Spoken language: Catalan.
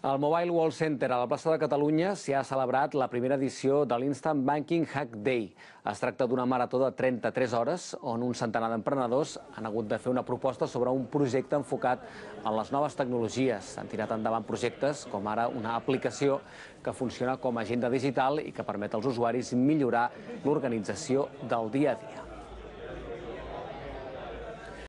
Al Mobile World Center, a la plaça de Catalunya, s'hi ha celebrat la primera edició de l'Instant Banking Hack Day. Es tracta d'una marató de 33 hores on un centenar d'emprenedors han hagut de fer una proposta sobre un projecte enfocat en les noves tecnologies. Han tirat endavant projectes com ara una aplicació que funciona com a agenda digital i que permet als usuaris millorar l'organització del dia a dia.